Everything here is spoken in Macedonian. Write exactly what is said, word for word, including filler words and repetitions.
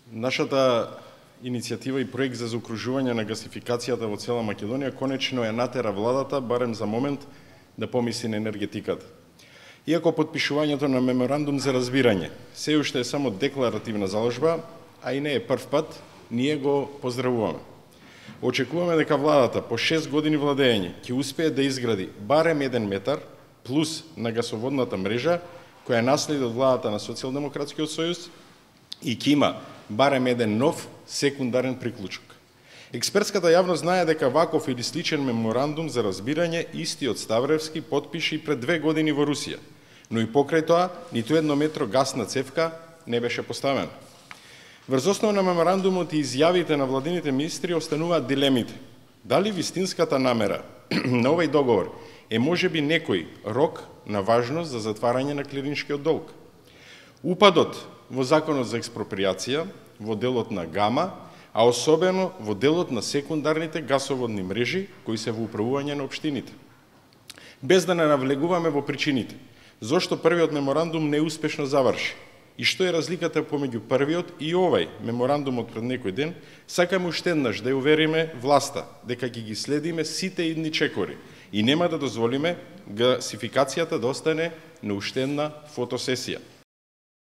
Нашата иницијатива и проект за заокружување на гасификацијата во цела Македонија конечно ја натера владата, барем за момент, да помисли на енергетиката. Иако потпишувањето на меморандум за разбирање се уште е само декларативна заложба, а и не е прв пат, ние го поздравуваме. Очекуваме дека владата по шест години владење ќе успее да изгради барем еден метар плюс на гасоводната мрежа, која наследи од владата на Социјалдемократскиот сојуз и ќе има барем еден нов секундарен приклучок. Експертската јавност знае дека ваков или сличен меморандум за разбирање истиот Ставревски потпише и пред две години во Русија, но и покрај тоа ниту едно метро гасна цевка не беше поставена. Врз основа на меморандумот и изјавите на владините министри остануваат дилемите. Дали вистинската намера на овој договор е можеби некој рок на важност за затварање на клириншкиот долг? Упадот во Законот за експроприација, во делот на Гама, а особено во делот на секундарните гасоводни мрежи кои се во управување на општините. Без да не навлегуваме во причините, зошто првиот меморандум неуспешно заврши и што е разликата помеѓу првиот и овај меморандумот пред некој ден, сакаме уште еднаш да ја увериме власта дека ќе ги следиме сите идни чекори и нема да дозволиме гасификацијата да остане на уште една фотосесија.